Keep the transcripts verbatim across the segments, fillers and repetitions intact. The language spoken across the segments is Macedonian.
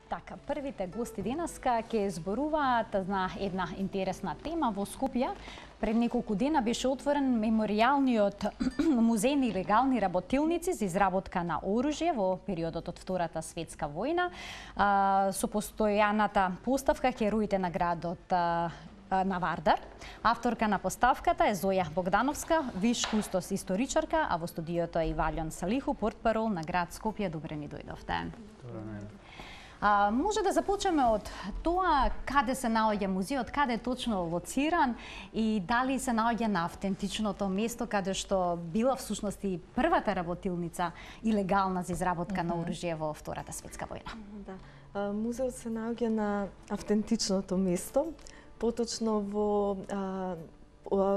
Така, првите гости денеска ќе зборуваат на една интересна тема во Скопје. Пред неколку дена беше отворен меморијалниот музеј на илегални работилници за изработка на оружје во периодот од Втората светска војна. Со постојаната поставка Хероите на градот на Вардар. Авторка на поставката е Зоја Богдановска, виш кустос историчарка, а во студиото е и Валјон Салиху, портпарол на град Скопје. Добре ни дојдовте. А, може да започнеме од тоа каде се наоѓа музеот, каде е точно лоциран и дали се наоѓа на автентичното место каде што била всушност и првата работилница илегална за изработка mm -hmm. на оружје во Втората светска војна. Да. А, музеот се наоѓа на автентичното место, поточно во а,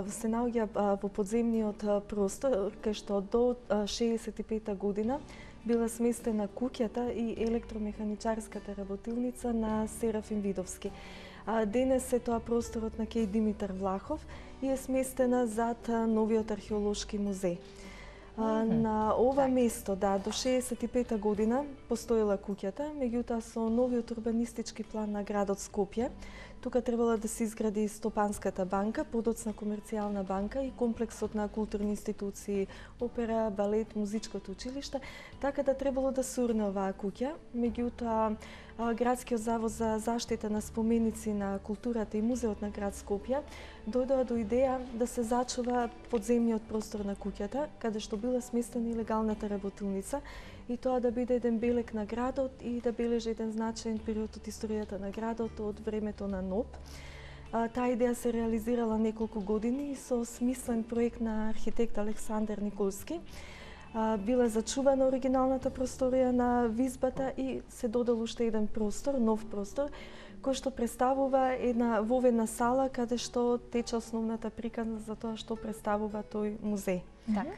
се наоѓа во подземниот простор, кај што до шеесет и пета година била сместена куќата и електромеханичарската работилница на Серафим Видовски. А, денес е тоа просторот на Кеј Димитар Влахов и е сместена зад новиот археолошки музеј. А, mm -hmm. На ова так. место, да, до шеесет и пета година постоела куќата, меѓутоа со новиот урбанистички план на градот Скопје, тука требала да се изгради Стопанската банка, подоцна комерцијална банка и комплексот на културни институции, опера, балет, музичкото училиште, така да требало да се урне оваа куќа. Меѓутоа, Градскиот завод за заштита на споменици на културата и музеот на град Скопје дојдоа до идеја да се зачува подземниот простор на куќата, каде што била сместена илегалната работилница, и тоа да биде еден белег на градот и да бележи еден значаен период од историјата на градот од времето на НОП. Таа идеја се реализирала неколку години со смислен проект на архитект Александар Николски. Била зачувана оригиналната просторија на визбата и се додал уште еден простор, нов простор, кој што представува една воведна сала каде што тече основната приказна за тоа што представува тој музеј. Така.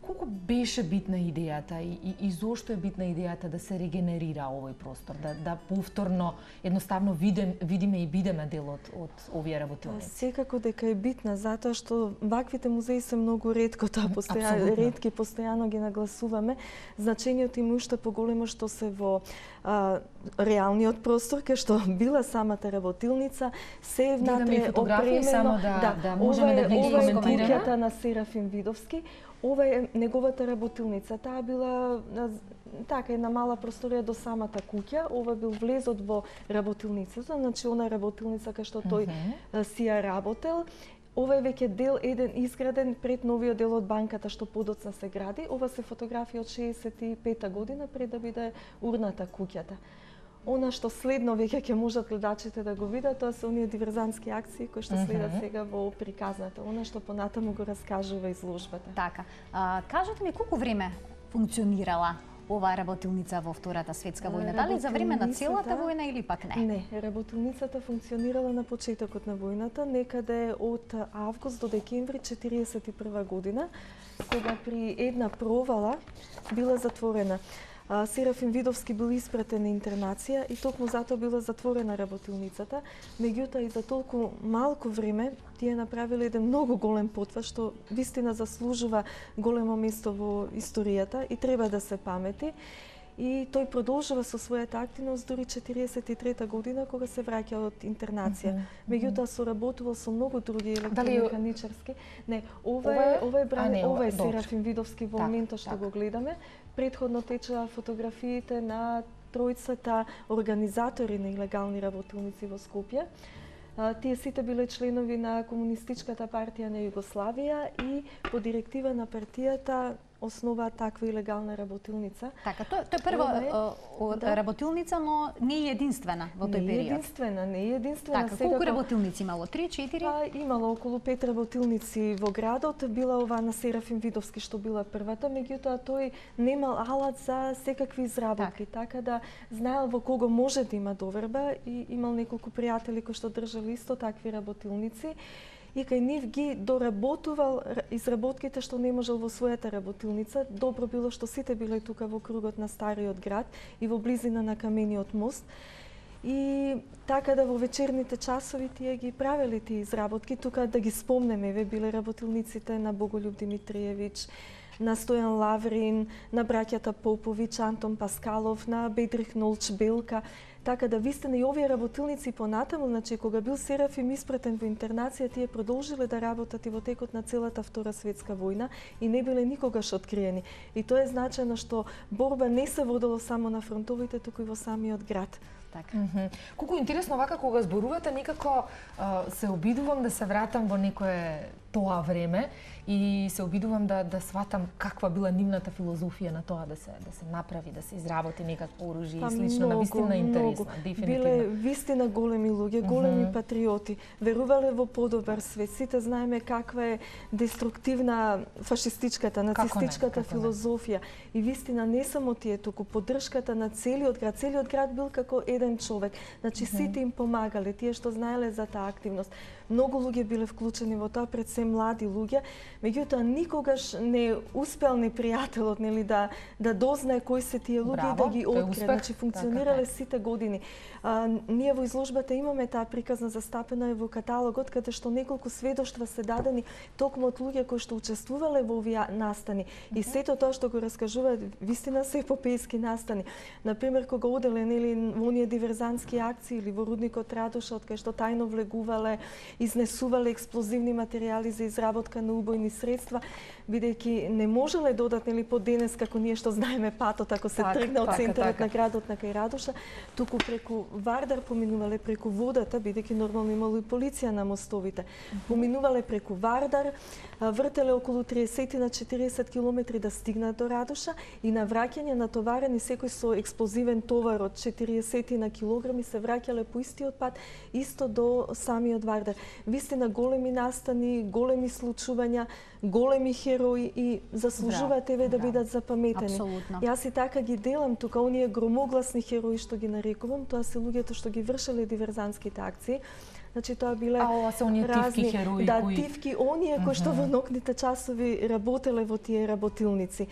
Колку беше битна идејата и, и, и зошто е битна идејата да се регенерира овој простор, да, да повторно едноставно видим, видиме и бидеме дел од, од овие работилници? Секако дека е битна, затоа што ваквите музеи се многу ретко, тоа постојано, ретки, постојано ги нагласуваме. Значењето им уште поголемо што се во а, реалниот простор, кај што била самата работилница, се е внатре опремено. Само да, да, да можеме да ги коментираме. Ова е куќата на Серафим Видовски. Ова е неговата работилница. Таа била така една мала просторија до самата куќа. Ова бил влезот во работилницата, значи она работилница кај што тој uh -huh. си ја работел. Ова е веќе дел еден изграден пред новиот дел од банката што подоцна се гради. Ова се фотографија од шеесет и пета година пред да биде урната куќата. Она што следно веќе ќе можат гледачите да го видат, тоа се оние диверзантски акции кои што следат сега во приказната. Она што понатаму го раскажува изложбата. Така. А, кажете ми колку време функционирала оваа работилница во Втората светска војна? Дали за време на целата војна или пак не? Не, работилницата функционирала на почетокот на војната, некаде од август до декември четириесет и прва година, кога при една провала била затворена. Серафим Видовски бил испратен на интернација и токму затоа била затворена работилницата. Меѓутоа и за толку малку време тие направиле еден многу голем потвар што вистина заслужува големо место во историјата и треба да се памети. И тој продолжува со својата активност дури четириесет и трета година кога се враќа од интернација. Mm -hmm. Меѓутоа соработувал со многу други електромеханичарски. Не, ова е ова е бран, не, ова е Серафим Видовски во моментот што го гледаме. Предходно течеа фотографиите на тројцата организатори на илегални работилници во Скопје. Тие сите биле членови на Комунистичката партија на Југославија и по директива на партијата основа таква илегална работилница. Така, тоа тоа е прва е, да. работилница, но не е единствена во тој период. Не е единствена, не е единствена. Така, колку работилници имало? Три, четири? Па, имало околу пет работилници во градот. Била ова на Серафим Видовски што била првата, меѓутоа тој немал алат за секакви изработки, так. така да знаел во кого може да има доверба и имал неколку пријатели кои што држали исто такви работилници. И кај нив ги доработувал изработките што не можел во својата работилница. Добро било што сите биле тука во кругот на стариот град и во близина на камениот мост. И така да во вечерните часови тие ги правеле тие изработки. Тука да ги спомнеме, ве биле работилниците на Боголюб Димитриевиќ, на Стојан Лаврин, на браќата Поповиќ, Антон Паскалов, на Бедрих Нолч Белка. Така да вистина и овие работилници понатаму, значи кога бил Серафим испратен во интернација, тие продолжиле да работат и во текот на целата Втора светска војна и не биле никогаш откриени. И тоа е значајно што борба не се водела само на фронтовите, туку и во самиот град. Така. Mm -hmm. Колку интересно вака кога зборувате, некако а, се обидувам да се вратам во некое тоа време и се обидувам да да сватам каква била нивната филозофија на тоа да се да се направи, да се изработи некакво оружје и слично, на вистина интересно, дефинитивно. Биле вистина големи луѓе, големи mm -hmm. патриоти, верувале во подобар свет. Сите знаеме каква е деструктивна фашистичката, нацистичката филозофија. И вистина не само тие, туку поддршката на целиот град. Целиот град бил како еден човек. Значи mm -hmm. сите им помагале, тие што знаеле за таа активност. Многу луѓе биле вклучени во тоа, пред се млади луѓе, меѓутоа никогаш не успел непријателот, нели, да да дознае кои се тие луѓе и да ги открие. Значи функционирале така, сите години. А, ние во изложбата имаме таа приказна застапена и во каталогот, каде што неколку сведоштва се дадени токму од луѓе кои што учествувале во овие настани. Uh -huh. И сето тоа што го раскажуваат, вистина се епопејски настани. Например, кога оделе, нели, во оние диверзантски акции или во рудникот Радоша, од кај што тајно влегувале, изнесувале експлозивни материјали за изработка на убојни средства, бидејќи не можеле да одат, нели, по денес како ние што знаеме патот ако се так, тргне од центарот така. на градот на кај Радоша, туку преку Вардар поминувале, преку водата, бидејќи нормално имало и полиција на мостовите. Mm -hmm. Поминувале преку Вардар, вртеле околу триесет на четириесет километри да стигнат до Радоша и на враќање натоварени секој со експлозивен товар од четириесет на килограми се враќале по истиот пат исто до самиот Вардар. Вистина големи настани, големи случувања, големи херои и заслужуваат еве да бидат запаметени. Апсолутно. Јас и така ги делам тука оние громогласни херои што ги нарекувам, тоа се луѓето што ги вршеле диверзантските акции. Значи тоа биле а, ова се оние разни тивки херои да кои... тивки оние кои што во ноќните часови работеле во тие работилници.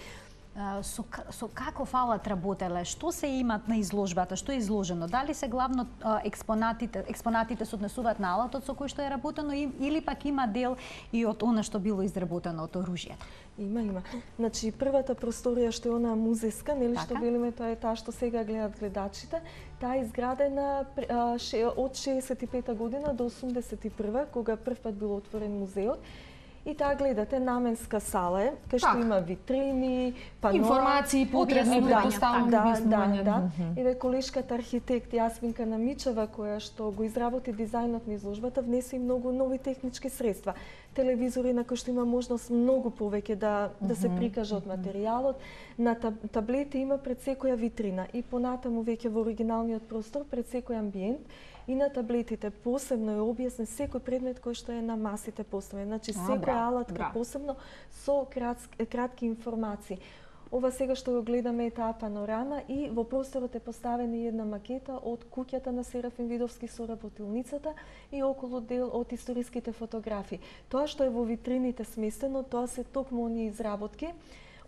Со, со каков алат работеле? Што се имат на изложбата? Што е изложено? Дали се главно експонатите, експонатите се однесуваат на алатот со кој што е работено или пак има дел и од она што било изработено од оружјето? Има, има. Значи, првата просторија што е она музејска, нели, така? Што велиме, тоа е таа што сега гледат гледачите, таа е изградена а, ше, од шеесет и пета година до осумдесет и прва, кога прв пат бил отворен музеот. И таа гледате наменска сала е, кај што има витрини, паноа, информации потребни предпоставувам да, објаснување. Да, да. И ве колешката архитект Јасминка Намичева, која што го изработи дизајнот на изложбата, внесе и многу нови технички средства. Телевизори на кои што има можност многу повеќе да да се прикаже од материјалот. На таблети има пред секоја витрина и понатаму веќе во оригиналниот простор пред секој амбиент. И на таблетите посебно е објаснен секој предмет кој што е на масите поставен. Значи секоја алатка посебно со кратки, кратки информации. Ова сега што го гледаме е таа панорама и во просторот е поставена една макета од куќата на Серафим Видовски со работилницата и околу дел од историските фотографии. Тоа што е во витрините сместено, тоа се токму оние изработки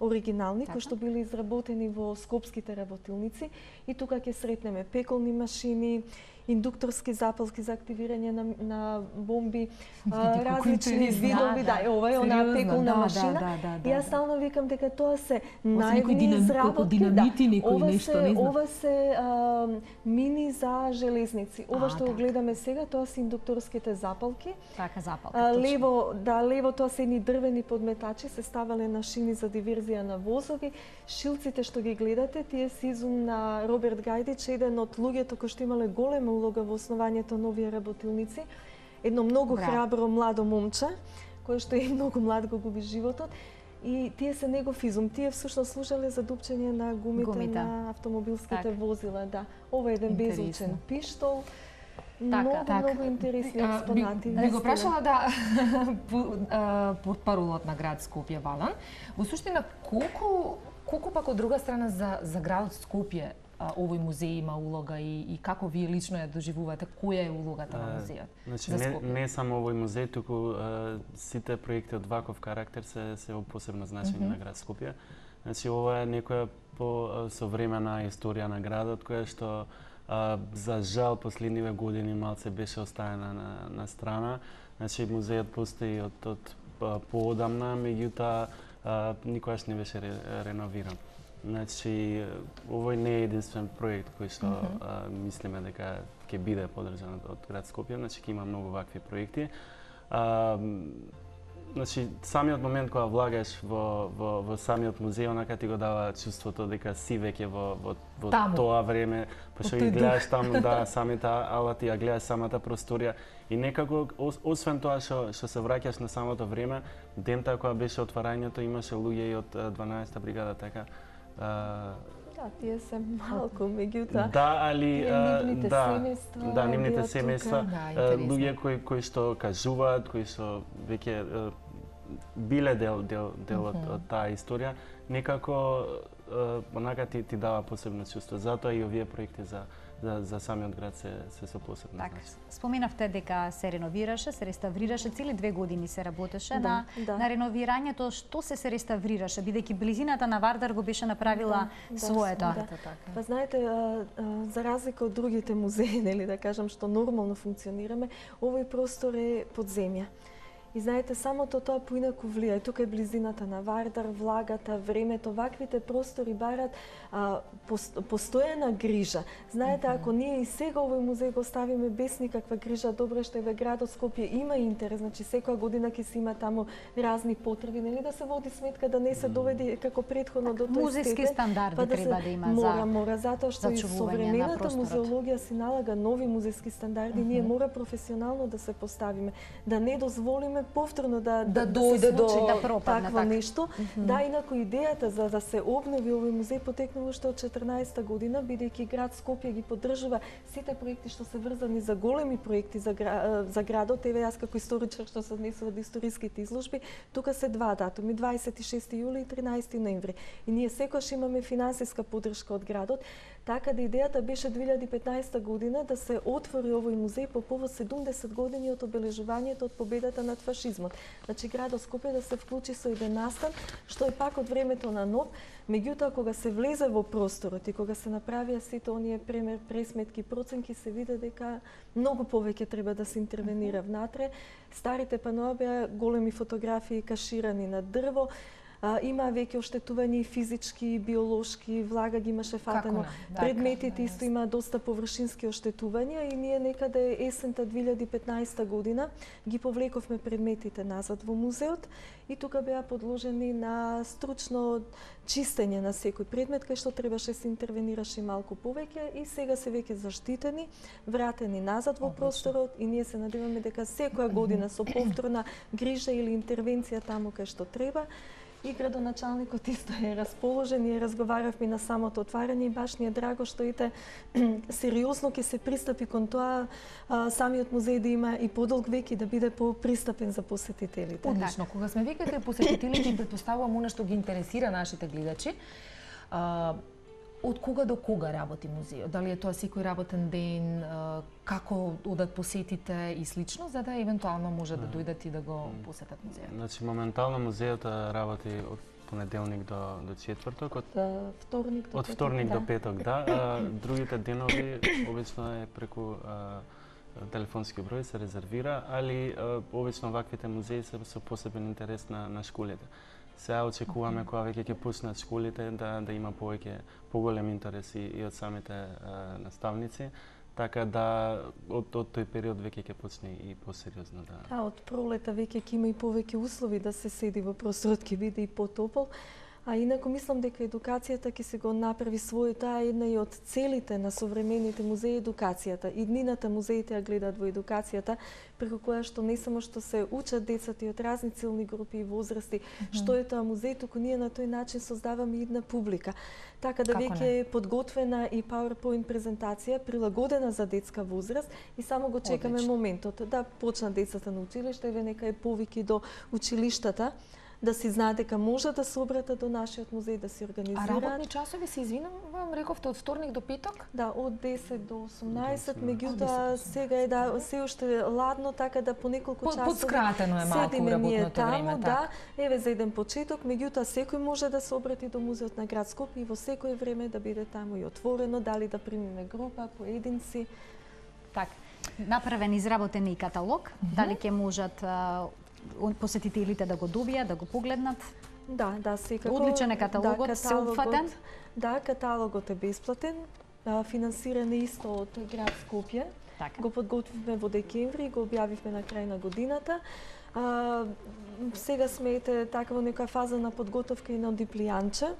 оригинални, кои што биле изработени во скопските работилници и тука ќе сретнеме пеколни машини, индукторски запалки за активирање на, на бомби, а, различни видови, да, да, ова е онаа пеколна да, машина. Да, да, да, и јас да. стално викам дека тоа се најдни изработки, динамити, да. Ова нешто, се, не знам. ова се а, мини за железници. Ова а, што го гледаме сега, тоа се индукторските запалки. Така, запалки. А, лево, да, лево тоа се едни дрвени подметачи, се ставале на шини за диверзија на возови. Шилците што ги гледате, тие се изум на Роберт Гајдич, еден од луѓето кои што имале голема улога во основањето на овие работилници. Едно многу Браво. храбро младо момче, кој што е многу млад го губи животот. И тие се негов изум. Тие всушност служеле за дупчење на гумите, гумите. на автомобилските так. возила. Да. Ова е еден безучен пиштол. Така, многу, так. многу интересни експонати. Би, би го прашала да портпаролот на град Скопје Валан. Во суштина, колку колку пак од друга страна за за градот Скопје овој музеј има улога и, и како вие лично ја доживувате, која е улогата на музејот? Значи не, не само овој музеј, туку а, сите проекти од ваков карактер се се во посебно значење mm -hmm. на град Скопје. Значи ова е некоја посовремена историја на градот која што а, за жал последниве години малце беше оставена на, на страна. Значи музејот постои од од поодамна, меѓутоа никогаш не беше ре, реновиран. Значи, овој не е единствен проект кој што mm -hmm. а, мислиме дека ќе биде поддржан од град Скопје, значи ќе има многу вакви проекти. А, значи, самиот момент кога влагаш во, во, во самиот музеј, онака ти го дава чувството дека си веќе во, во, во тоа време, па што ги гледаш таму, да, самите алати, ја гледаш самата просторија и некако, освен тоа што, што се враќаш на самото време, дента кога беше отварањето, имаше луѓе и од дванаесета бригада, така. Uh, да, тие се малку, меѓутоа. Да, али нивните да, семејства, да, нивните семејства, да, луѓе кои кои што кажуваат, кои што веќе биле дел дел дел од, од таа историја, некако онака ти ти дава посебно чувство. Затоа и овие проекти за за за самиот град се се со посебно так, значење. Споменавте дека се реновираше, се реставрираше, цели две години се работеше да, на да. на реновирањето. Што се се реставрираше, бидејќи близината на Вардар го беше направила да, своето? Да, да. Па знаете, а, а, за разлика од другите музеи, нели да кажам, што нормално функционираме, овој простор е подземја. И знаете, самото тоа поинаку влија. Тука е близината на Вардар, влагата, времето, ваквите простори барат а, постојана грижа. Знаете, mm -hmm. ако ние и сега овој музеј го ставиме без никаква грижа, добро што еве градот Скопје има интерес, значи секоја година ќе се има таму разни потреби, нели да се води сметка да не се доведе како претходно до тој музејски степен, стандарди па да треба се, да има мора, за мора, затоа што и современата музеологија си налага нови музејски стандарди, mm -hmm. ние мора професионално да се поставиме, да не дозволиме повторно да да, да дојде до да пропадне такво так. нешто. Mm -hmm. Да, инаку идејата за да се обнови овој музеј потекнува уште од четрнаесета година, бидејќи град Скопје ги поддржува сите проекти што се врзани за големи проекти за, гра... за градот. Еве јас како историчар што се однесува од историските изложби, тука се два датуми, дваесет и шести јули и тринаесети ноември. И ние секогаш имаме финансиска поддршка од градот. Така да идејата беше две илјади и петнаесета година да се отвори овој музеј по повод седумдесет години од обележувањето од победата над фашизмот. Значи градот Скопје да се вклучи со еден настан, што е пак од времето на НОБ. Меѓутоа, кога се влезе во просторот и кога се направија сите оние премер, пресметки, проценки, се виде дека многу повеќе треба да се интервенира внатре. Старите паноа беа големи фотографии каширани на дрво. А, има веќе оштетувања и физички, и биолошки, влага ги имаше фатено. Да, предметите исто има доста површински оштетувања и ние некаде есента две илјади и петнаесета година ги повлековме предметите назад во музеот и тука беа подложени на стручно чистење на секој предмет, кај што требаше се интервенираше малку повеќе и сега се веќе заштитени, вратени назад во просторот и ние се надеваме дека секоја година со повторна грижа или интервенција таму кај што треба. И градоначалникот исто е расположен и разговаравме на самото отварање и баш ни е драго што ите сериозно ќе се пристапи кон тоа а, самиот музеј да има и подолг век и да биде попристапен за посетителите. Одлично. Кога сме веќе кај посетителите, претпоставувам она што ги интересира нашите гледачи. А, од кога до кога работи музејот? Дали е тоа секој работен ден, како одат посетите и слично, за да евентуално може да дојдат и да го посетат музејот? Значи моментално музејот работи од понеделник до до четврток, од вторник до од вторник до петок, да. А, другите денови обично е преку а, телефонски број се резервира, али а, обично ваквите музеи се со посебен интерес на на школите. Сега очекуваме кога веќе ќе почнат школите да да има повеќе поголем интерес и, и од самите а, наставници, така да од од тој период веќе ќе почне и посериозно да. А од пролета веќе ќе има и повеќе услови да се седи во просторот, ќе биде и потопол. А инаку мислам дека едукацијата ќе се го направи својата, а една и од целите на современите музеи едукацијата. И днината музеите ја гледаат во едукацијата, преку која што не само што се учат децата и од разни целни групи и возрасти, mm -hmm. што е тоа музеј, туку ние на тој начин создаваме една публика. Така да веќе е подготвена и PowerPoint презентација прилагодена за детска возраст и само го чекаме Одлично. моментот да почнат децата на училиште, еве нека е повики до училиштата, да си знаат дека може да се обратат до нашиот музеј, да се организираат. А работни часови се извинувам, рековте од вторник до петок? Да, од десет до осумнаесет, меѓутоа сега е да се уште ладно, така да по неколку часови подскратено е малку работното таму, време, да, еве за еден почеток, меѓутоа секој може да се обрати до музеот на град Скопје и во секое време да биде таму и отворено, дали да примиме група, поединци. Така, направен изработен и каталог, mm -hmm. дали ќе можат посетителите да го добијат, да го погледнат? Да, да, секако. Одличен е каталогот, да, сеопфатен. Да, каталогот е бесплатен. Финансиран е исто од град Скопје. Така. Го подготвивме во декември, го објавивме на крај на годината. А, сега сме ете така во некоја фаза на подготовка и на диплијанче,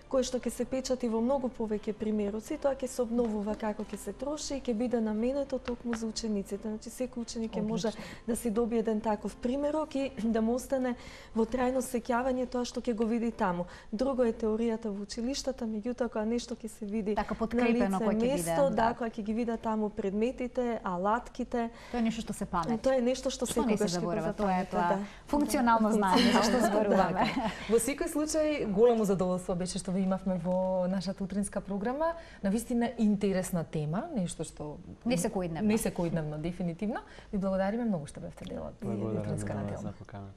кој што ќе се печати во многу повеќе примероци, тоа ќе се обновува како ќе се троши и ќе биде наменето токму за учениците. Значи секој ученик ќе може да си добие еден таков примерок и да му остане во трајно сеќавање тоа што ќе го види таму. Друго е теоријата во училиштата, меѓутоа кога нешто ќе се види така на подкрепено лице кој ќе место, биде. да, кога ќе ги видат таму предметите, алатките. Тоа е нешто што се памти. Тоа е нешто што Што не се секогаш ќе го заборава, тоа е запамти, тоа да. функционално знаење за што зборуваме. Во секој случај, големо задоволство беше што ви имавме во нашата утринска програма. Навистина интересна тема, нешто што Не секојдневно. Не секојдневно, дефинитивно. Ви благодариме многу што бевте дел од Благодарам утринска на вас неделна. за поканата.